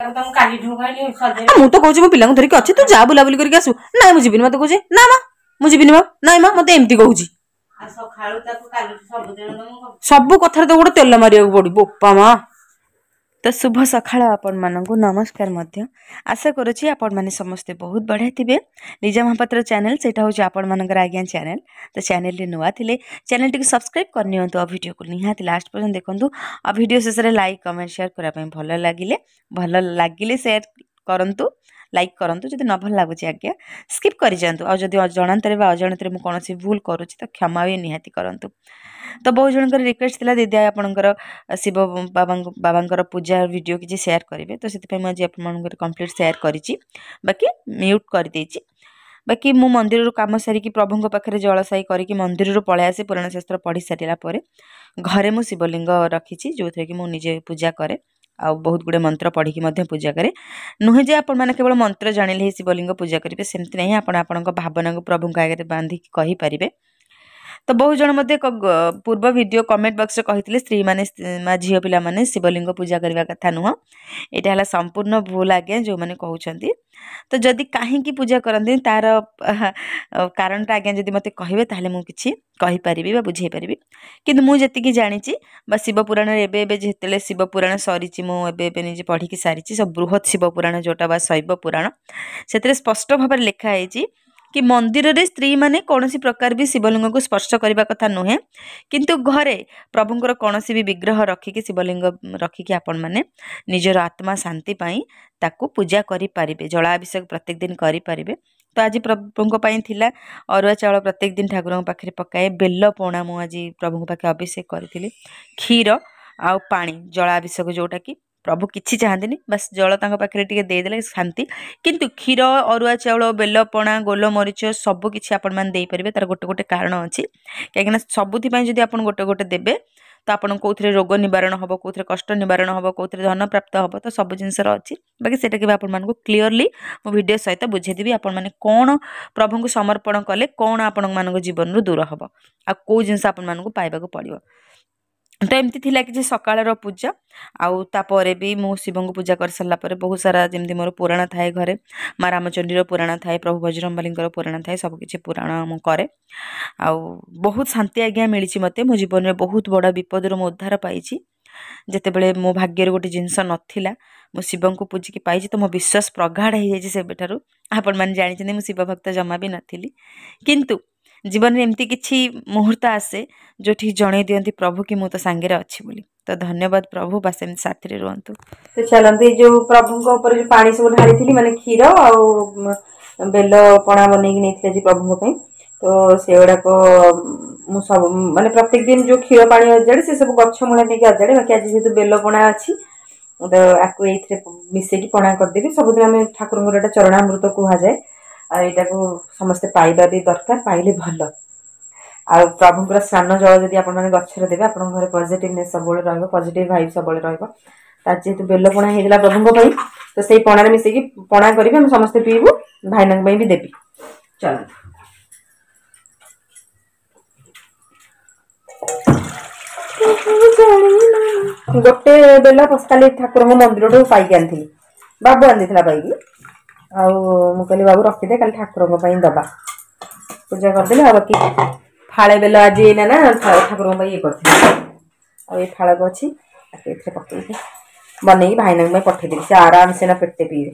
ମୁଁ ତ କହୁଛି ମୋ ପିଲାଙ୍କୁ ଧରିକି ଅଛି, ତୁ ଯା ବୁଲାବୁଲି କରିକି ଆସିବୁ। ନାଇଁ ମୁଁ ଯିବିନି, ମତେ କହୁଛି ନା ମା ମୁଁ ଯିବିନି, ମା ନାଇଁ ମା, ମତେ ଏମିତି କହୁଛି। ସବୁ କଥାରେ ତ ଗୋଟେ ତେଲ ମାରିବାକୁ ପଡିବ ବୋପା ମା। ତ ଶୁଭ ସକାଳ ଆପଣମାନଙ୍କୁ, ନମସ୍କାର ମଧ୍ୟ। ଆଶା କରୁଛି ଆପଣମାନେ ସମସ୍ତେ ବହୁତ ବଢ଼ିଆ ଥିବେ। ଲିଜା ମହାପାତ୍ର ଚ୍ୟାନେଲ୍, ସେଇଟା ହେଉଛି ଆପଣମାନଙ୍କର ଆଜ୍ଞା ଚ୍ୟାନେଲ୍। ତ ଚ୍ୟାନେଲ୍ରେ ନୂଆ ଥିଲେ ଚ୍ୟାନେଲ୍ଟିକୁ ସବସ୍କ୍ରାଇବ୍ କରିନିଅନ୍ତୁ, ଆଉ ଭିଡ଼ିଓକୁ ନିହାତି ଲାଷ୍ଟ ପର୍ଯ୍ୟନ୍ତ ଦେଖନ୍ତୁ, ଆଉ ଭିଡ଼ିଓ ଶେଷରେ ଲାଇକ୍ କମେଣ୍ଟ ସେୟାର କରିବା ପାଇଁ ଭଲ ଲାଗିଲେ ସେୟାର କରନ୍ତୁ, ଲାଇକ୍ କରନ୍ତୁ। ଯଦି ନ ଭଲ ଲାଗୁଛି ଆଜ୍ଞା ସ୍କିପ୍ କରିଯାଆନ୍ତୁ। ଆଉ ଯଦି ଜଣାନ୍ତରେ ବା ଅଜାଣତରେ ମୁଁ କୌଣସି ଭୁଲ କରୁଛି ତ କ୍ଷମା ବି ନିହାତି କରନ୍ତୁ। ତ ବହୁତ ଜଣଙ୍କର ରିକ୍ୱେଷ୍ଟ ଥିଲା, ଦିଦି ଆପଣଙ୍କର ଶିବ ବାବାଙ୍କର ପୂଜା ଭିଡ଼ିଓ କିଛି ସେୟାର କରିବେ। ତ ସେଥିପାଇଁ ମୁଁ ଆଜି ଆପଣମାନଙ୍କର କମ୍ପ୍ଲିଟ୍ ସେୟାର କରିଛି, ବାକି ମ୍ୟୁଟ୍ କରିଦେଇଛି। ବାକି ମୁଁ ମନ୍ଦିରରୁ କାମ ସାରିକି ପ୍ରଭୁଙ୍କ ପାଖରେ ଜଳସାଇ କରିକି ମନ୍ଦିରରୁ ପଳେଇ ଆସି ପୁରାଣ ଶାସ୍ତ୍ର ପଢ଼ି ସାରିଲା ପରେ ଘରେ ମୁଁ ଶିବଲିଙ୍ଗ ରଖିଛି, ଯେଉଁଥିରେ କି ମୁଁ ନିଜେ ପୂଜା କରେ ଆଉ ବହୁତ ଗୁଡ଼ିଏ ମନ୍ତ୍ର ପଢ଼ିକି ମଧ୍ୟ ପୂଜା କରେ। ନୁହେଁ ଯେ ଆପଣମାନେ କେବଳ ମନ୍ତ୍ର ଜାଣିଲେ ହିଁ ଶିବଲିଙ୍ଗ ପୂଜା କରିବେ, ସେମିତି ନାହିଁ। ଆପଣ ଆପଣଙ୍କ ଭାବନାକୁ ପ୍ରଭୁଙ୍କ ଆଗରେ ବାନ୍ଧିକି କହିପାରିବେ। ତ ବହୁତ ଜଣ ମଧ୍ୟ ପୂର୍ବ ଭିଡ଼ିଓ କମେଣ୍ଟ ବକ୍ସରେ କହିଥିଲେ ସ୍ତ୍ରୀମାନେ ବା ଝିଅ ପିଲାମାନେ ଶିବଲିଙ୍ଗ ପୂଜା କରିବା କଥା ନୁହଁ। ଏଇଟା ହେଲା ସମ୍ପୂର୍ଣ୍ଣ ଭୁଲ ଆଜ୍ଞା ଯେଉଁମାନେ କହୁଛନ୍ତି। ତ ଯଦି କାହିଁକି ପୂଜା କରନ୍ତି ତାର କାରଣଟା ଆଜ୍ଞା ଯଦି ମୋତେ କହିବେ ତାହେଲେ ମୁଁ କିଛି କହିପାରିବି ବା ବୁଝେଇ ପାରିବି। କିନ୍ତୁ ମୁଁ ଯେତିକି ଜାଣିଛି ବା ଶିବପୁରାଣରେ ଏବେ ଏବେ ଯେତେବେଳେ ଶିବପୁରାଣ ସରିଛି, ମୁଁ ଏବେ ଏବେ ନିଜେ ପଢ଼ିକି ସାରିଛି ସବୁ ବୃହତ୍ ଶିବପୁରାଣ ଯେଉଁଟା ବା ଶୈବ ପୁରାଣ, ସେଥିରେ ସ୍ପଷ୍ଟ ଭାବରେ ଲେଖା ହେଇଛି କି ମନ୍ଦିରରେ ସ୍ତ୍ରୀମାନେ କୌଣସି ପ୍ରକାର ବି ଶିବଲିଙ୍ଗକୁ ସ୍ପର୍ଶ କରିବା କଥା ନୁହେଁ, କିନ୍ତୁ ଘରେ ପ୍ରଭୁଙ୍କର କୌଣସି ବି ବିଗ୍ରହ ରଖିକି, ଶିବଲିଙ୍ଗ ରଖିକି ଆପଣମାନେ ନିଜର ଆତ୍ମା ଶାନ୍ତି ପାଇଁ ତାକୁ ପୂଜା କରିପାରିବେ, ଜଳାଭିଷେକ ପ୍ରତ୍ୟେକ ଦିନ କରିପାରିବେ। ତ ଆଜି ପ୍ରଭୁଙ୍କ ପାଇଁ ଥିଲା ଅରୁଆ ଚାଉଳ ପ୍ରତ୍ୟେକ ଦିନ ଠାକୁରଙ୍କ ପାଖରେ ପକାଏ, ବେଲ ପଣା ମୁଁ ଆଜି ପ୍ରଭୁଙ୍କ ପାଖରେ ଅଭିଷେକ କରିଥିଲି, କ୍ଷୀର ଆଉ ପାଣି ଜଳାଭିଷେକ, ଯେଉଁଟାକି ପ୍ରଭୁ କିଛି ଚାହାନ୍ତିନି, ବାସ୍ ଜଳ ତାଙ୍କ ପାଖରେ ଟିକେ ଦେଇଦେଲେ ଶାନ୍ତି। କିନ୍ତୁ କ୍ଷୀର, ଅରୁଆ ଚାଉଳ, ବେଲପଣା, ଗୋଲମରିଚ ସବୁ କିଛି ଆପଣମାନେ ଦେଇପାରିବେ। ତାର ଗୋଟେ ଗୋଟେ କାରଣ ଅଛି, କାହିଁକିନା ସବୁଥିପାଇଁ ଯଦି ଆପଣ ଗୋଟେ ଗୋଟେ ଦେବେ ତ ଆପଣ କେଉଁଥିରେ ରୋଗ ନିବାରଣ ହେବ, କେଉଁଥିରେ କଷ୍ଟ ନିବାରଣ ହେବ, କେଉଁଥିରେ ଧନ ପ୍ରାପ୍ତ ହେବ, ତ ସବୁ ଜିନିଷର ଅଛି। ବାକି ସେଇଟା କେବେ ଆପଣମାନଙ୍କୁ କ୍ଲିଅରଲି ମୁଁ ଭିଡ଼ିଓ ସହିତ ବୁଝେଇଦେବି ଆପଣମାନେ କ'ଣ ପ୍ରଭୁଙ୍କୁ ସମର୍ପଣ କଲେ କ'ଣ ଆପଣମାନଙ୍କ ଜୀବନରୁ ଦୂର ହେବ ଆଉ କେଉଁ ଜିନିଷ ଆପଣମାନଙ୍କୁ ପାଇବାକୁ ପଡ଼ିବ। ତ ଏମିତି ଥିଲା କିଛି ସକାଳର ପୂଜା। ଆଉ ତାପରେ ବି ମୁଁ ଶିବଙ୍କୁ ପୂଜା କରିସାରିଲା ପରେ ବହୁତ ସାରା ଯେମିତି ମୋର ପୁରାଣ ଥାଏ ଘରେ, ମା ରାମଚଣ୍ଡୀର ପୁରାଣ ଥାଏ, ପ୍ରଭୁ ବଜରଙ୍ଗବଲୀଙ୍କର ପୁରାଣ ଥାଏ, ସବୁକିଛି ପୁରାଣ ମୁଁ କରେ। ଆଉ ବହୁତ ଶାନ୍ତି ଆଜ୍ଞା ମିଳିଛି ମୋତେ। ମୋ ଜୀବନରେ ବହୁତ ବଡ଼ ବିପଦରୁ ମୁଁ ଉଦ୍ଧାର ପାଇଛି। ଯେତେବେଳେ ମୋ ଭାଗ୍ୟରେ ଗୋଟେ ଜିନିଷ ନଥିଲା ମୁଁ ଶିବଙ୍କୁ ପୂଜିକି ପାଇଛି। ତ ମୋ ବିଶ୍ୱାସ ପ୍ରଗାଢ଼ ହେଇଯାଇଛି ସେବେଠାରୁ। ଆପଣମାନେ ଜାଣିଛନ୍ତି ମୁଁ ଶିବ ଭକ୍ତ ଜମା ବି ନଥିଲି, କିନ୍ତୁ ଜୀବନରେ ଏମିତି କିଛି ମୁହୂର୍ତ୍ତ ଆସେ ଯେଉଁଠି ଜଣେଇ ଦିଅନ୍ତି ପ୍ରଭୁ କି ମୁଁ ତ ସାଙ୍ଗରେ ଅଛି ବୋଲି। ତ ଧନ୍ୟବାଦ ପ୍ରଭୁ, ବାସ୍ ଏମିତି ସାଥିରେ ରୁହନ୍ତୁ। ତ ଚାଲନ୍ତୁ, ଏଇ ଯେଉଁ ପ୍ରଭୁଙ୍କ ଉପରେ ଯେଉଁ ପାଣି ସବୁ ଢାଳିଥିଲି, ମାନେ କ୍ଷୀର ଆଉ ବେଲ ପଣା ବନେଇକି ନେଇଥିଲି ଆଜି ପ୍ରଭୁଙ୍କ ପାଇଁ, ତ ସେଗୁଡ଼ାକ ମୁଁ ସବୁ ମାନେ ପ୍ରତ୍ୟେକ ଦିନ ଯେଉଁ କ୍ଷୀର ପାଣି ଅଜାଡ଼େ ସେ ସବୁ ଗଛ ମୂଳେ ନେଇକି ଅଜାଡ଼େ। ବାକି ଆଜି ଯେହେତୁ ବେଲ ପଣା ଅଛି ତ ଆକୁ ଏଇଥିରେ ମିଶେଇକି ପଣା କରିଦେବି। ସବୁଦିନ ଆମେ ଠାକୁରଙ୍କର ଏଇଟା ଚରଣାମୃତ କୁହାଯାଏ, ଆଉ ଏଇଟାକୁ ସମସ୍ତେ ପାଇବା ବି ଦରକାର, ପାଇଲେ ଭଲ। ଆଉ ପ୍ରଭୁଙ୍କର ସ୍ନାନ ଜଳ ଯଦି ଆପଣମାନେ ଗଛରେ ଦେବେ ଆପଣଙ୍କ ଘରେ ପଜିଟିଭନେସ୍ ସବୁବେଳେ ରହିବ, ପଜିଟିଭ୍ ଭାଇବ୍ ସବୁବେଳେ ରହିବ। ତା ଯେହେତୁ ବେଲ ପଣା ହେଇଥିଲା ପ୍ରଭୁଙ୍କ ପାଇଁ ତ ସେଇ ପଣାରେ ମିଶେଇକି ପଣା କରିବି, ଆମେ ସମସ୍ତେ ପିଇବୁ, ଭାଇନାଙ୍କ ପାଇଁ ବି ଦେବି। ଚାଲନ୍ତୁ। ଗୋଟେ ବେଲ କାଲି ଠାକୁରଙ୍କ ମନ୍ଦିରଠୁ ପାଇକି ଆଣିଥିଲି, ବାବୁ ଆଣିଦେଇଥିଲା ପାଇକି। ଆଉ ମୁଁ କହିଲି ବାବୁ ରଖିଦେ, କାଲି ଠାକୁରଙ୍କ ପାଇଁ ଦବା, ପୂଜା କରିଦେଲି। ଆଉ ବାକି ଫାଳେ ବେଲ ଆଜି ଏଇନା ନା ଠାକୁରଙ୍କ ପାଇଁ ଇଏ କରିଥିଲି, ଆଉ ଏଇ ଫାଳକ ଅଛି ତାକୁ ଏଥିରେ ପକେଇକି ବନେଇକି ଭାଇନାଙ୍କ ପାଇଁ ପଠେଇଦେବି, ସେ ଆରାମସେ ନା ପେଟେ ପିଇବେ।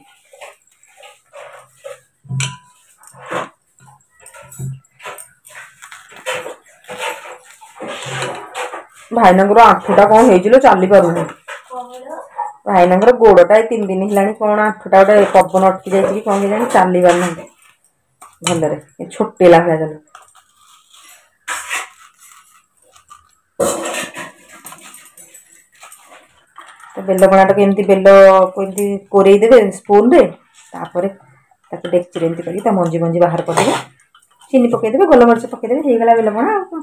ଭାଇନାଙ୍କର ଆଣ୍ଠୁଟା କ'ଣ ହେଇଛି ଲୋ, ଚାଲି ପାରୁନି। ଭାଇନାଙ୍କର ଗୋଡ଼ଟା ଏ 3 ଦିନ ହେଲାଣି କ'ଣ ଆଣ୍ଠୁଟା ଗୋଟେ ପବନ ଅଟକି ଯାଇଛି କି କ'ଣ କେଜାଣି, ଚାଲି ପାରୁନାହାନ୍ତି ଭଲରେ, ଛୋଟେଇଲା ଭଳିଆ ଚାଲୁ। ତ ବେଲ ପଣାଟାକୁ ଏମିତି ବେଲକୁ ଏମିତି କୋରେଇ ଦେବେ ସ୍ପୁନରେ, ତାପରେ ତାକୁ ଡେକ୍ଚିରେ ଏମିତି କରିକି ତା ମଞ୍ଜି ମଞ୍ଜି ବାହାର କରିଦେବେ, ଚିନି ପକେଇଦେବେ, ଗୋଲମରିଚ ପକେଇଦେବେ, ହେଇଗଲା ବେଲ ପଣା। ଆଉ କ'ଣ,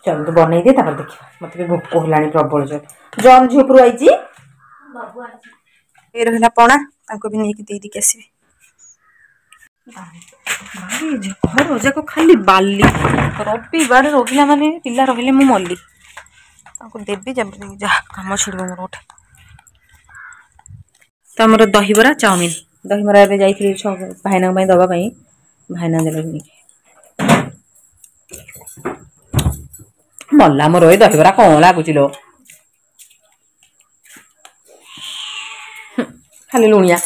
ଚାଲନ୍ତୁ ବନେଇଦିଏ, ତାପରେ ଦେଖିବା। ମୋତେ ବି ଭୋକ ହେଲାଣି ପ୍ରବଳ ଜୋର। ଜନ୍ ଝିଅ ଉପରୁ ଆଇଛି, ଏ ରହିଲା ପଣା, ତାଙ୍କୁ ବି ନେଇକି ଦେଇଦେଇକି ଆସିବି। ଘର ଯାକ ଖାଲି ବାଲି, ରବିବାର ରହିଲା ମାନେ ପିଲା ରହିଲେ ମୁଁ ମଲି। ତାଙ୍କୁ ଦେବି, ଯାହା କାମ ଛିଡ଼ିବ ମୋର ଗୋଟେ। ତ ଆମର ଦହିବରା ଚାଉମିନ, ଦହିବରା ଏବେ ଯାଇଥିଲି ଭାଇନାଙ୍କ ପାଇଁ ଦେବା ପାଇଁ, ଭାଇନା ଦେଲେ ନେଇକି। ମଲା ମୋର ଏଇ ଦହିବରା କ'ଣ ଲାଗୁଛି ଲୋ, ଖାଲି ଲୁଣିଆ।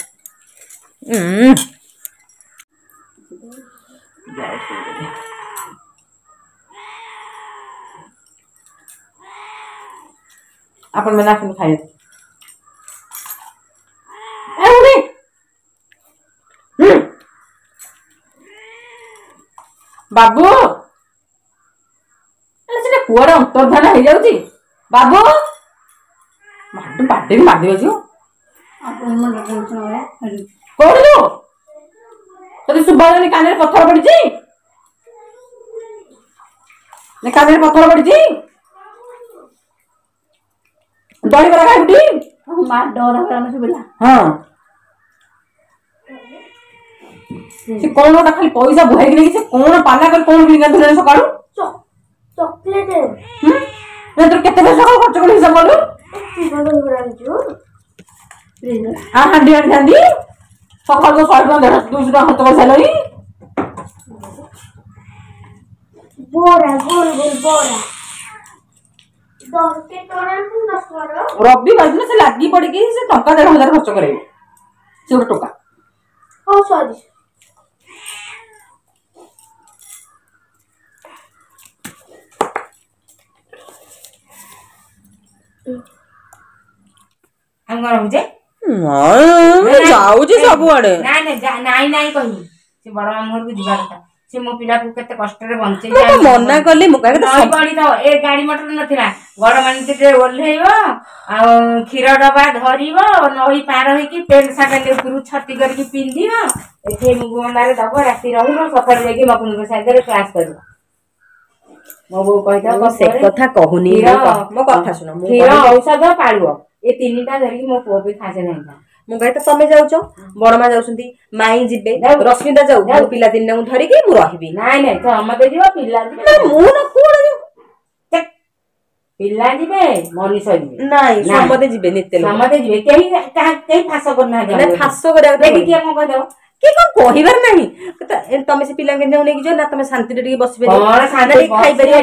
ଆପଣମାନେ ଆସନ୍ତୁ ଖାଇବେ। ବାବୁ ସେଟା କୁଆଡେ ଅନ୍ତର୍ଧାନ ହେଇଯାଉଛି। ବାବୁ ବାଡେଇକି ମାରିଦେବେ ଝିଅ। କୋଉଠି ତୋତେ ଶୁଭା ଯାଉନି? କାନରେ ପଥର ପଡିଛି? କାନରେ ପଥର ପଡିଛି? ଦହିବରା ଖାଇବୁଟି? ହଁ, ସେ କଣ ଗୋଟା ଖାଲି ପଇସା ବୁହାଇକି ନେଇକି ସେ କଣ ପାଲା କରି କଣ କିଣିକି ଆଣିଥିଲୁ ସକାଳୁ? ଚକୋଲେଟ। ତୋର କେତେ ପଇସା ସକାଳୁ ଖର୍ଚ୍ଚ କଲୁ ହିସାବ କଲୁ? ହାଣ୍ଡି ଆଣିଥାନ୍ତି। ସକାଳୁ ତ 100 ଟଙ୍କା, 150, 200 ଟଙ୍କା ଖର୍ଚ୍ଚ କରିସାରିଲଣି। ବରା, ଗୋଲ ଗୋଲ ବରା। ରବିବାର ଦିନ ସେ ଲାଗି ପଡିକି ସେ ଟଙ୍କା 1500 ଖର୍ଚ୍ଚ କରେଇବ। ସେ ଗୋଟେ ଟୋକା। ହଉ, ସରି। ଆମେ କଣ ରହୁଛେ? ଯାଉଛି ସବୁଆଡେ। ନାଇଁ ନାଇଁ ନାଇଁ ନାଇଁ, କହିବି ସେ ବଡ ମାମୁଁ ଘରକୁ ଯିବା କଥା। ସେ ମୋ ପିଲାକୁ କେତେ କଷ୍ଟରେ ବଞ୍ଚେଇ ମନା କଲି। ମୁଁ ପଡିଥାଉ, ଏ ଗାଡି ମଟର ନଥିଲା। ବଡ ମାନେ ଓହ୍ଲେଇବ ଆଉ କ୍ଷୀର ଡବା ଧରିବ, ନଈ ପାର ହେଇକି ପେଣ୍ଟ ସାର୍ଟ ଉପରକୁ ଛତି କରିକି ପିନ୍ଧିବ, ଏଠି ମୁଗୁମଣ୍ଡାରେ ଦବ, ରାତି ରହିବ, ସକାଳୁ ଯାଇକି ମକୁନ୍ଦ ସାହିରେ କ୍ଲାସ କରିବ। ମୋ ବୋଉ କହିଥାଉ। ସେ କଥା କହୁନି, ମୋ କଥା ଶୁଣ। କ୍ଷୀର, ଔଷଧ, ପାଳୁଅ, ଏ ତିନିଟା ଧରିକି ମୋ ପୁଅ ବି ଖାସେ ନାହିଁ। ମୁଁ କହେ ତ ତମେ ଯାଉଛ, ବଡମା ଯାଉଛନ୍ତି, ମାଇଁ ଯିବେ, ରଶ୍ମିତା ଯାଉ, ମୁଁ ପିଲା ତିନିଟାଙ୍କୁ ଧରିକି ମୁଁ ରହିବି। ନାଇଁ ନାଇଁ, ସମସ୍ତେ ଯିବ, ପିଲା ଯିବେ। ମୁଁ ନା କଣ? ପିଲା ଯିବେ, ମଣିଷ ଯିବେ। ନାଇଁ, ସମସ୍ତେ ଯିବେ, ନିତ୍ୟ ସମସ୍ତେ ଯିବେ। କେହି କେହି ଫାସ କରୁନାହାନ୍ତି। ଫାସ କରିବାକୁ ଦେଖି କିଏ କଣ କହିଦବ? କିଏ କଣ କହିବାର ନାହିଁ। ତମେ ସେ ପିଲାଙ୍କ ନେଇକି ଯିବ ନା, ତମେ ଶାନ୍ତିରେ ଟିକେ ବସିପାରିବ, ଖାଇପାରିବ?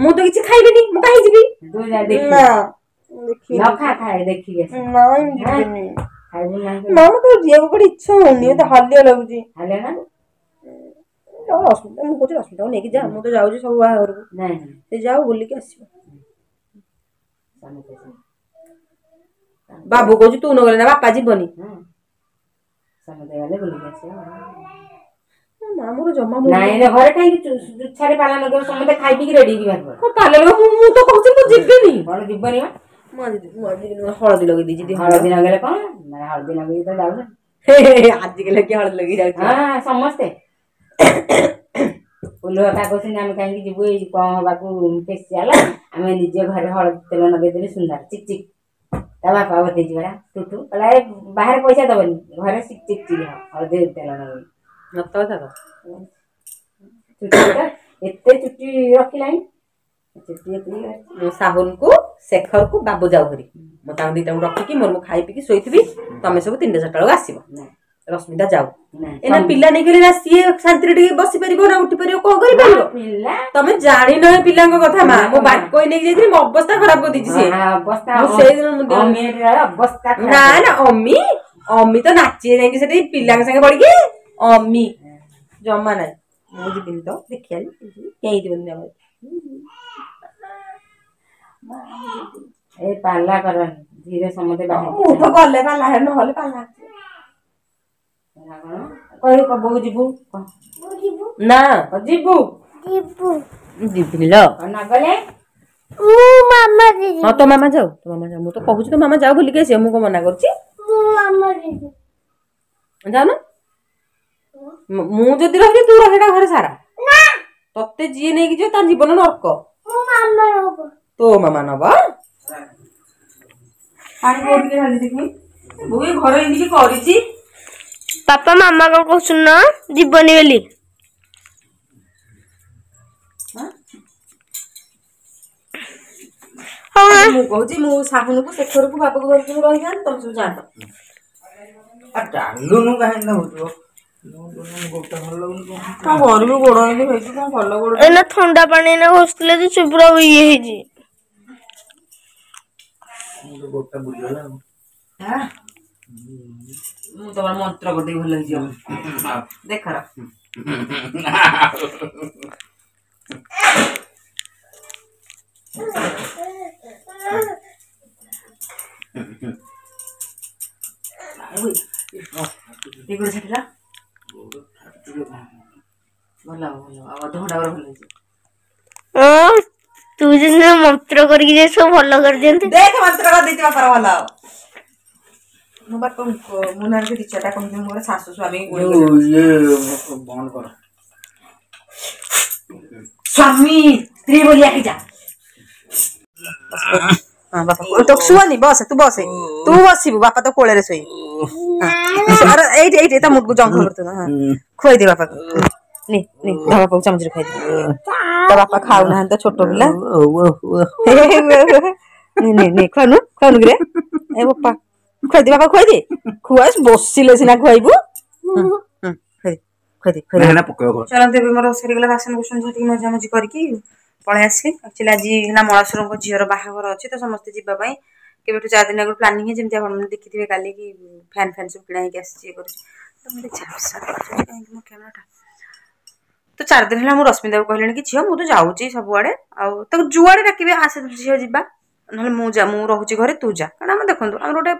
ମୁଁ ତ କିଛି ଖାଇବିନି, ମୁଁ କାହିଁ ଯିବି? ନା, ମତେ ଯିବାକୁ କୁଆଡେ ଇଚ୍ଛା ହଉନି, ମତେ ହାଲିଆ ଲାଗୁଛି। ରଶ୍ମିତା, ମୁଁ କହୁଛି ରଶ୍ମିତାକୁ ନେଇକି ଯା। ମୁଁ ତ ଯାଉଛି ସବୁ ବାହାଘରକୁ, ସେ ଯାଉ ବୁଲିକି ଆସିବ। ବାବୁ କହୁଛି ତୁ ନଗଲେ ନା ବାପା ଯିବନି। ସମସ୍ତେ ଗଲେ ବୁଲିକି ଆସିବ। ନା, ମୋର ଜମା ନାଇଁ। ଘରେ କାହିଁକି ଚୁଛାରେ ପାଲା ଲଗେଇବ? ସମସ୍ତେ ଖାଇ ପିଇକି ରେଡି ହେଇକି ବାହାରି ପାଲା ଲଗେଇବ। ମୁଁ ତ କହୁଛି ମୁଁ ଯିବିନି। କଣ ଯିବନି? ମୁଁ ଆଜି ହଳଦୀ ଲଗେଇ ଦେଇଛି। ହଳଦୀ ଲଗେଇଲେ କଣ? ହଳଦୀ ଲଗେଇକି ତ ଯାଉଛ ଆଜିକାଲି, କିଏ ହଳଦୀ ଲଗେଇ ଯାଉଛି? ହଁ, ସମସ୍ତେ ଫୁଲୁଆ କହୁଛନ୍ତି ଆମେ କାହିଁକି ଯିବୁ ଏଇ କଣ ହବାକୁ ଫେସିଆଲ, ଆମେ ନିଜେ ଘରେ ହଳଦୀ ତେଲ ଲଗେଇଦେଲେ ସୁନ୍ଦର ଚିକ୍ ଚିକ୍। ତା ବାପା ବତେଇଛି ପରା ଟୁଟୁ, କହିଲା ଏ ବାହାରେ ପଇସା ଦବନି, ଘରେ ଚିକ୍ ଚିକ୍ ଚିକ୍ ହଳଦୀ ତେଲ ଲଗେଇ। ସତ କଥା ତ। ଚୁଟି ଏତେ ଚୁଟି ରଖିଲାଣି, ଚୁଟି ଏତିକି। ମୁଁ ସାହୁନକୁ, ଶେଖରକୁ, ବାବୁ ଯାଉ ଘରି, ମୁଁ ତାଙ୍କୁ ଦିଟାଙ୍କୁ ରଖିକି ମୋର ମୁଁ ଖାଇ ପିଇକି ଶୋଇଥିବି। ତମେ ସବୁ 3ଟା 4ଟା ବେଳକୁ ଆସିବ। ରଶ୍ମିତା ଯାଉ ଏନା, ପିଲା ନେଇଗଲେ ନା ସିଏ ଶାନ୍ତିରେ ଟିକେ ବସି ପାରିବ ନା ଉଠି ପାରିବ, କଣ କରିପାରିବ? ତମେ ଜାଣିନ ଏ ପିଲାଙ୍କ କଥା ମା। ମୁଁ ବାଟକୋଇ ନେଇକି ଯାଇଥିଲି, ମୋ ଅବସ୍ଥା ଖରାପ କରିଦେଇଛି ସିଏ। ସେଇଦିନ ନା ନା, ଅମି ଅମି ତ ନାଚି ଯାଇକି ସେଠି ପିଲାଙ୍କ ସାଙ୍ଗେ ପଡିକି। ଅମି ଜମା ନାହିଁ। ମୁଁ ଯିବିନି ତ, ଦେଖିବା କେହି ଯିବନି ଆମର। ଏ ପାଲା କରନି ଧୀରେ, ସମସ୍ତେ। ମୁଁ ତ ଗଲେ ପାଲା, ନହେଲେ ପାଲା କହିବୁ। ବୋଉ ଯିବୁ ନା? ଯିବୁ, ଯିବିନି ଲୋ। ନଗଲେ ହଁ, ତୋ ମାମା ଯାଉ, ତୋ ମାମା ଯାଉ। ମୁଁ ତ କହୁଛି ତୋ ମାମା ଯାଉ ବୁଲିକି ଆସିବ, ମୁଁ କଣ ମନା କରୁଛି? ଯାଉନ। ମୁଁ ଯଦି ରହିଲି, ତୁ ରହିଟା ଘରେ ସାରା। ତତେ ଯିଏ ନେଇକି ଯିବ ତା ଜୀବନ ନର୍କ। ତୋ ମାମା ନବ। ପାଣି କୋଉଠି ଢାଳି ଦେଖି, ବୋଉ ଏ ଘରେ ଏମିତି କରିଛି। ବାପା, ମାମା କଣ କହୁଛନ୍ତି ନା ଯିବନି ବୋଲି। ମୁଁ କହୁଛି ମୁଁ ସାହୁନକୁ, ଶେଖରକୁ, ବାବାକୁ ଧରିକି ମୁଁ ରହିଯାଆନ୍ତି, ତମେ ସବୁ ଯାଆନ୍ତ। ଚାଲୁନୁ, କାହିଁକି ହଉଥିବ? କଣ କରିବି, ଗୋଡ ଏମିତି ହେଇଛି, କଣ ଭଲ ଗୋଡ। ଏଇନା ଥଣ୍ଡା ପାଣି ଏଇନା ଘଷିଥିଲେ ଯେ ସେ ପୁରା ଇଏ ହେଇଛି। ଗୋଡଟା ବୁଲିଗଲା ଆଉ। ମୁଁ ତମର ମନ୍ତ୍ର କରିଦେବି, ଭଲ ହେଇଯିବ ଦେଖର। ଏଇ ଗୋଡ଼ ଛାଟିଲା, ଭଲ ହବ, ଭଲ ହବ, ଆଉ ଅଧଘଣ୍ଟା ପରେ ଭଲ ହେଇଯିବ। ତୁ ଯେମିତି ମନ୍ତ୍ର କରିକି ଯେ ସବୁ ଭଲ କରିଦିଅନ୍ତି। ଦେଖ, ମନ୍ତ୍ର କରିଦେଇଛି ବାପାର, ଭଲ ହବ। ମୁଁ ବାପା, ମୁଁ ନହେଲେ ଦି ଚାରିଟା କହିବି ମୋର ଶାଶୁ ସ୍ୱାମୀ ଗୁଳି। ଇଏ ବନ୍ଦ କର। ସ୍ୱାମୀ ସ୍ତ୍ରୀ ବୋଲି ହେଇଯା। ହଁ ବାପା, ତ ଶୁଅନି, ବସେ, ତୁ ବସେ, ତୁ ବସିବୁ, ବାପା ତ କୋଳରେ ଶୋଇବେ। ଏଇଠି ଏଇଠି ତା ମୁଣ୍ଡକୁ ଜଙ୍ଘ କରୁଥିବ। ହଁ, ଖୁଆଇଦେ ବାପାକୁ। ନେ ନେ, ତା ବାପାକୁ ଚାମଚରେ ଖୁଆଇଦେ। ତା ବାପା ଖାଉନାହାନ୍ତି ତ, ଛୋଟ ପିଲା। ନେ ନେ ନେ, ଖୁଆନୁ ଖୁଆନୁ କିରେ। ଏ ବାପା, ଖୁଆଇଦେ ବାପା, ଖୁଆଇଦେ। ଖୁଆ, ବସିଲେ ସିନା ଖୁଆଇବୁ। ଖୁଆଇଦେ ଖୁଆଇଦେ ଖୁଆଇଦେ। ଚଲନ୍ତୁ, ଏବେ ମୋର ସରିଗଲା ବାସନ କୁସନ ଝାଟିକି ମଜାମଜି କରିକି ପଳେଇ ଆସିଲି। ଆକ୍ଚୁଆଲି ଆଜି ହେଲା ମଳାସୁରଙ୍କ ଝିଅର ବାହାଘର ଅଛି, ତ ସମସ୍ତେ ଯିବା ପାଇଁ କେବେଠୁ 4 ଦିନ ଆଗରୁ ପ୍ଲାନିଂ ହେଇଛି। ଯେମିତି ଆପଣମାନେ ଦେଖିଥିବେ କାଲି କି ଫ୍ୟାନ୍ ଫ୍ୟାନ୍ ସବୁ କିଣା ହେଇକି ଆସିଛି, ଇଏ କରୁଛି। ତ ମୋତେ ଝାପ୍ସା କାହିଁକି ମୋ କ୍ୟାମେରାଟା? ତ 4 ଦିନ ହେଲା ମୁଁ ରଶ୍ମିତାକୁ କହିଲିଣି କି ଝିଅ, ମୁଁ ତ ଯାଉଛି ସବୁଆଡ଼େ, ଆଉ ତାକୁ ଯୁଆଡ଼େ ଡାକିବେ ଆସେ ଝିଅ ଯିବା, ନହେଲେ ମୁଁ ଯା, ମୁଁ ରହୁଛି ଘରେ, ତୁ ଯା। କାରଣ ଆମେ ଦେଖନ୍ତୁ, ଆମର ଗୋଟେ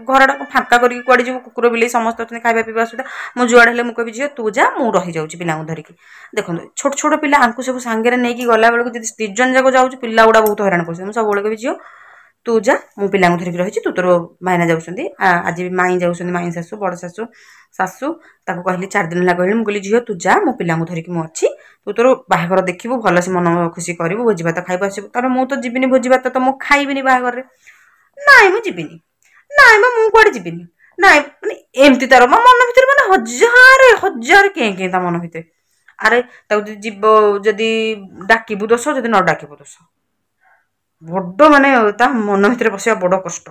ଘରଟା ଫାଙ୍କା କରିକି କୁଆଡ଼େ ଯିବୁ? କୁକୁର ବିଲେଇ ସମସ୍ତେ ଅଛନ୍ତି, ଖାଇବା ପିଇବା ଅସୁବିଧା। ମୁଁ ଯୁଆଡ଼େ ହେଲେ ମୁଁ କହିବି ଝିଅ ତୁ ଯା, ମୁଁ ରହିଯାଉଛି ପିଲାଙ୍କୁ ଧରିକି। ଦେଖନ୍ତୁ, ଛୋଟ ଛୋଟ ପିଲା, ଆଙ୍କୁ ସବୁ ସାଙ୍ଗରେ ନେଇକି ଗଲାବେଳକୁ ଯଦି 2 ଜଣ ଯାକ ଯାଉଛୁ, ପିଲା ଗୁଡ଼ା ବହୁତ ହଇରାଣ କରୁଛନ୍ତି। ମୁଁ ସବୁବେଳେ କହିବି ଝିଅ ତୁ ଯା, ମୁଁ ପିଲାଙ୍କୁ ଧରିକି ରହିଛି, ତୁ ତୋର। ଭାଇନା ଯାଉଛନ୍ତି, ଆଜି ବି ମାଇଁ ଯାଉଛନ୍ତି, ମାଇଁ ଶାଶୁ, ବଡ଼ ଶାଶୁ, ଶାଶୁ। ତାକୁ କହିଲି, 4 ଦିନ ହେଲା କହିଲି, ମୁଁ କହିଲି ଝିଅ ତୁ ଯା, ମୁଁ ପିଲାଙ୍କୁ ଧରିକି ମୁଁ ଅଛି, ତୁ ତୋର ବାହାଘର ଦେଖିବୁ, ଭଲସେ ମନ ଖୁସି କରିବୁ, ଭୋଜି ଭାତ ଖାଇବୁ ଆସିବୁ। ତାପରେ ମୁଁ ତ ଯିବିନି ଭୋଜି ଭାତ ତ ମୁଁ ଖାଇବିନି ବାହାଘରରେ। ନାଇଁ ମୁଁ ଯିବିନି, ନାଇଁ ମ ମୁଁ କୁଆଡ଼େ ଯିବିନି, ନାଇଁ। ମାନେ ଏମିତି ତାର ମୋ ମନ ଭିତରେ ମାନେ ହଜାରେ ହଜାରେ କେଁ କେଁ ତା ମନ ଭିତରେ। ଆରେ ତାକୁ ଯଦି ଯିବ, ଯଦି ଡାକିବୁ ଦୋଷ, ଯଦି ନ ଡାକିବୁ ଦୋଷ। ବଡ଼ ମାନେ ତା ମନ ଭିତରେ ପଶିବା ବଡ଼ କଷ୍ଟ।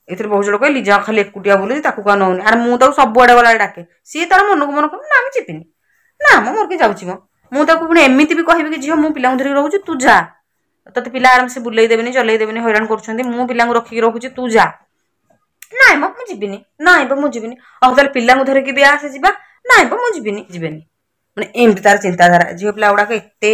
ଏଥିରେ ବହୁତ ଜଣ କହିଲେ ଲିଜା ଖାଲି ଏକୁଟିଆ ବୁଲୁଛି, ତାକୁ କାହା ନଉନି। ଆରେ ମୁଁ ତାକୁ ସବୁଆଡ଼େ ଗଲାବେଳେ ଡାକେ, ସିଏ ତାର ମନକୁ ମନ କହିବ ନା ମୁଁ ଯିବିନି, ନା ମ ମୋର କିଏ ଯାଉଛି ମ। ମୁଁ ତାକୁ ପୁଣି ଏମିତି ବି କହିବି କି ଝିଅ ମୁଁ ପିଲାଙ୍କୁ ଧରିକି ରହୁଛି, ତୁ ଯା, ତୋତେ ପିଲା ଆରାମସେ ବୁଲେଇ ଦେବେନି, ଚଲେଇ ଦେବେନି, ହଇରାଣ କରୁଛନ୍ତି, ମୁଁ ପିଲାଙ୍କୁ ରଖିକି ରହୁଛି, ତୁ ଯା। ନାଇଁ ମ ମୁଁ ଯିବିନି, ନାଇଁ ବା ମୁଁ ଯିବିନି। ଆଉ ତାହେଲେ ପିଲାଙ୍କୁ ଧରିକି ବି ଆସେ ଯିବା। ନାଇଁ ବା ମୁଁ ଯିବିନି, ଯିବେନି। ମାନେ ଏମିତି ତାର ଚିନ୍ତାଧାରା। ଝିଅ ପିଲା ଗୁଡ଼ାକ ଏତେ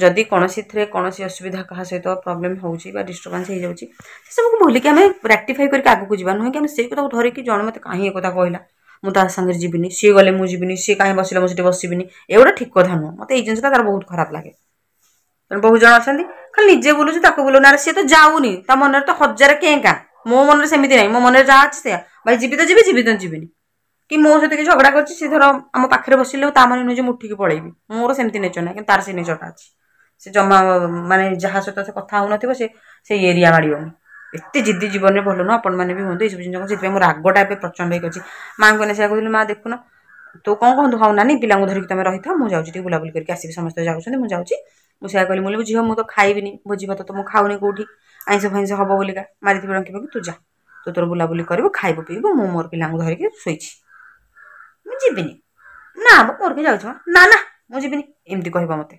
ଯଦି କୌଣସିଥିରେ କୌଣସି ଅସୁବିଧା, କାହା ସହିତ ପ୍ରୋବ୍ଲେମ୍ ହେଉଛି ବା ଡିଷ୍ଟର୍ବାନ୍ସ ହେଇଯାଉଛି, ସେସବୁକୁ ଭୁଲିକି ଆମେ ରେକ୍ଟିଫାଇ କରିକି ଆଗକୁ ଯିବା, ନୁହେଁ କି ଆମେ ସେଇ କଥାକୁ ଧରିକି ଜଣେ ମୋତେ କାହିଁ ଏ କଥା କହିଲା, ମୁଁ ତା ସାଙ୍ଗରେ ଯିବିନି, ସିଏ ଗଲେ ମୁଁ ଯିବିନି, ସିଏ କାହିଁ ବସିଲେ ମୁଁ ସେଠି ବସିବିନି, ଏଗୁଡ଼ା ଠିକ୍ କଥା ନୁହଁ। ମୋତେ ଏଇ ଜିନିଷଟା ତାର ବହୁତ ଖରାପ ଲାଗେ। ତେଣୁ ବହୁତ ଜଣ ଅଛନ୍ତି ଖାଲି ନିଜେ ବୁଲୁଛି, ତାକୁ ବୁଲୁନି। ଆରେ ସିଏ ତ ଯାଉନି, ତା ମନରେ ତ ହଜାରେ କେଁ କାଁ। ମୋ ମନରେ ସେମିତି ନାହିଁ, ମୋ ମନରେ ଯାହା ଅଛି ସେଇଆ। ଭାଇ ଯିବି ତ ଯିବି, ଯିବି ତ ଯିବିନି। କି ମୋ ସହିତ କି ଝଗଡ଼ା କରିଛି, ସେ ଧର ଆମ ପାଖରେ ବସିଲେ ତା ମାନେ ନୁହେଁ ଯେ ମୁଁ ଉଠିକି ପଳେଇବି। ମୋର ସେମିତି ନେଚର ନାହିଁ, କିନ୍ତୁ ତାର ସେ ନେଚରଟା ଅଛି। ସେ ଜମା ମାନେ ଯାହା ସହିତ ସେ କଥା ହଉନଥିବ, ସେ ସେଇ ଏରିଆ ମାଡ଼ିବନି। ଏତେ ଜିଦ୍ଦି ଜୀବନରେ ଭଲ ନୁହଁ, ଆପଣମାନେ ବି ହୁଅନ୍ତୁ ଏସବୁ ଜିନିଷ। ସେଥିପାଇଁ ମୋ ରାଗଟା ଏବେ ପ୍ରଚଣ୍ଡ ହେଇକି ଅଛି। ମାଆଙ୍କୁ ଏଇନା ସେଇଆ କହୁଥିଲି, ମା ଦେଖୁନ ତୁ କ'ଣ କହନ୍ତୁ। ହଉ ନାନୀ, ପିଲାଙ୍କୁ ଧରିକି ତମେ ରହିଥାଅ, ମୁଁ ଯାଉଛି ଟିକେ ବୁଲାବୁଲି କରିକି ଆସିବି, ସମସ୍ତେ ଯାଉଛନ୍ତି, ମୁଁ ଯାଉଛି। ମୁଁ ସେଇଆ କହିଲି, ମୁଁ କହିଲି ଝିଅ ମୁଁ ତ ଖାଇବିନି ଭୋଜି ଭାତ, ତ ମୁଁ ଖାଉନି କେଉଁଠି, ଆଇଁଷ ଫାଇଁଷ ହବ ବୋଲିକା ମାରିଥିବେ ଡଙ୍କି ଫଙ୍କି, ତୁ ଯା, ତୁ ତୋର ବୁଲାବୁଲି କରିବୁ, ଖାଇବୁ ପିଇବୁ, ମୁଁ ମୋର ପିଲାଙ୍କୁ ଧରିକି ଶୋଇଛି, ମୁଁ ଯିବିନି। ନା ମ ମୋର କିଏ ଯାଉଛି ମ, ନା ନା ମୁଁ ଯିବିନି, ଏମିତି କହିବ ମୋତେ।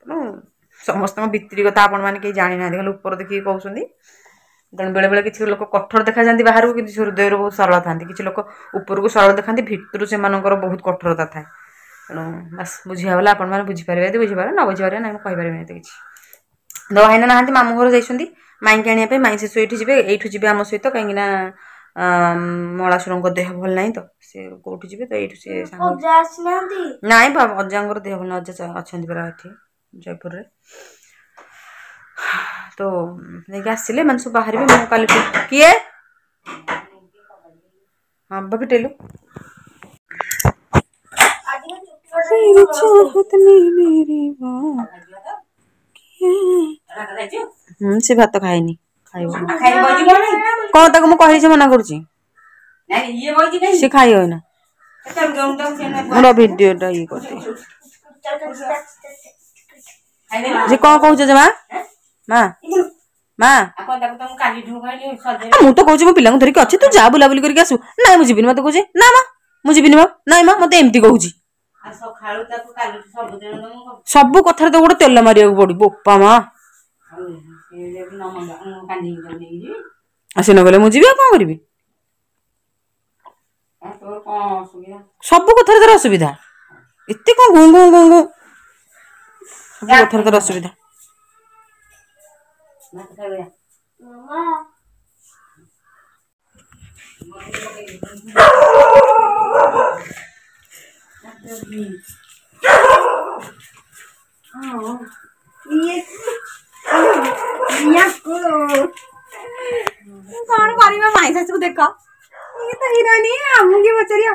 ତେଣୁ ସମସ୍ତଙ୍କ ଭିତିରି କଥା ଆପଣମାନେ କେହି ଜାଣିନାହାନ୍ତି, ଖାଲି ଉପର ଦେଖିକି କହୁଛନ୍ତି। ତେଣୁ ବେଳେବେଳେ କିଛି ଲୋକ କଠୋର ଦେଖାଯାଆନ୍ତି ବାହାରକୁ, କିନ୍ତୁ ସେ ହୃଦୟରୁ ବହୁତ ସରଳ ଥାନ୍ତି। କିଛି ଲୋକ ଉପରକୁ ସରଳ ଦେଖାନ୍ତି, ଭିତରୁ ସେମାନଙ୍କର ବହୁତ କଠୋରତା ଥାଏ। ତେଣୁ ବାସ୍ ବୁଝିବା ଗଲା, ଆପଣମାନେ ବୁଝିପାରିବେ ଯଦି ବୁଝିପାରିବେ, ନ ବୁଝିପାରିବେ ନାହିଁ, ମୁଁ କହିପାରିବିନି ଏତେ କିଛି। ତ ଭାଇନା ନାହାନ୍ତି, ମାମୁଁ ଘର ଯାଇଛନ୍ତି ମାଇଁକି ଆଣିବା ପାଇଁ। ମାଇଁ ଶାଶୁ ଏଇଠି ଯିବେ, ଏଇଠୁ ଯିବେ ଆମ ସହିତ, କାହିଁକିନା ମଳାସୁରଙ୍କ ଦେହ ଭଲ ନାହିଁ, ତ ସେ କୋଉଠି ଯିବେ, ତ ଏଇଠୁ ସେ ସାଙ୍ଗ। ଅଜା ଆସିନାହାନ୍ତି? ନାଇଁ ବା, ଅଜାଙ୍କର ଦେହ ଭଲ ନାହିଁ। ଅଜା ଅଛନ୍ତି ପରା ଏଠି ଜୟପୁରରେ। ତ ନେଇକି ଆସିଲେ ମାନେ ସବୁ ବାହାରିବେ। ମୁଁ କାଲିଠୁ କିଏ? ହଁ ବା, ଫିଟେଇଲୁ। ସେ ଭାତ ଖାଇନି, ଖାଇବ କଣ? ତାକୁ ମୁଁ କହିଲି, ସେ ମନା କରୁଛି, ସେ ଖାଇବ ଏଇନା। ମୋର ଭିଡ଼ିଓଟା ଇଏ କରିଦେ। ଯେ କଣ କହୁଛ ଜମା? ମା ମା, ଆଉ କଣ ତାକୁ ତ ମୁଁ କାଲିଠୁ କହିଲି ସଜେଇ। ମୁଁ ତ କହୁଛି ମୋ ପିଲାଙ୍କୁ ଧରିକି ଅଛି, ତୁ ଯା ବୁଲାବୁଲି କରିକି ଆସିବୁ। ନାଇଁ ମୁଁ ଯିବିନି, ମତେ କହୁଛି। ନା ମା ମୁଁ ଯିବିନି ମା, ନାଇଁ ମା, ମତେ ଏମିତି କହୁଛି। ଆଉ ସକାଳୁ ତାକୁ କାଲିଠୁ ସବୁଦିନ ତ ମୁଁ ସବୁ କଥାରେ ତ ଗୋଟେ ତେଲ ମାରିବାକୁ ପଡିବ, ବୋପା ମା। ଆଉ ସେ ଯଦି ନ ମଙ୍ଗା, ମୁଁ କାନ୍ଦିକି ତାକୁ ନେଇକି ଯିବି। ଆଉ ସେ ନ ଗଲେ ମୁଁ ଯିବି, ଆଉ କଣ କରିବି? ଆଉ ତୋର କଣ ଅସୁବିଧା? ସବୁ କଥାରେ ତାର ଅସୁବିଧା। ଏତେ କଣ ଗୁଁ ଗୁଁ ଗୁଁ ଗୁଁ, ସବୁ କଥାରେ ତାର ଅସୁବିଧା। ଭାତ ଖାଇବ ଯା। କଣ କରିବା, ମାଇଁ ଶାଶୁକୁ ଦେଖ, ଇଏ ତ ହିରୋଇନ, ଆମକୁ କିଏ ପଚାରିବ?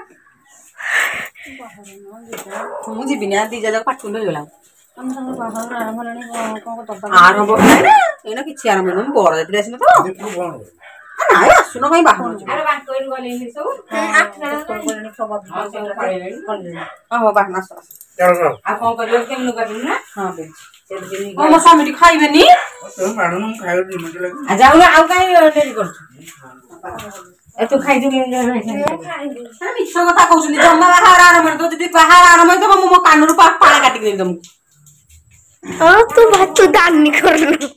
ମୁଁ ଯିବିନି। ଆଉ ଦି ଯାକ ପାଟୁଣ୍ଡ ହେଇଗଲା। ଆରମ୍ଭ ଏଇନା କିଛି ଆରମ୍ଭ ହେଇନି, ମୁଁ ବର ଯାତ୍ରୀ ଆସିନ ତ। ନାଇଁ ଆସୁନ, କାଇଁ ବାହାରୁ ଆରେ ବାଙ୍କରୁ ଗଲେଣି ସବୁ। ହଁ ସବୁ ପଳେଇଲେଣି। ହଉ ବାହାନ, ଆସ ଆସ। ଆଉ କଣ କରିବ? କେମିତି କରିବୁ ନା? ହଁ ହଁ, ମୋ ସ୍ୱାମୀ ଟିକେ ଖାଇବେନି। ଆଉ ଯାଉନ, ଆଉ କାହିଁ ଡେରି କରୁଛୁ? ଏ ତୁ ଖାଇଛୁ? ମିଛ କଥା କହୁଛନ୍ତି, ଜମା ବାହାଘର ଆରମ୍ଭ ହେଇନଥିବ। ଯଦି ବାହାଘର ଆରମ୍ଭ ହେଇଥିବ, ମୁଁ ମୋ କାନରୁ ପାଳ କାଟିକି ଦେବି ତମକୁ। ହଁ, ତୁ ଭାତ ଦାନି କରୁନୁ।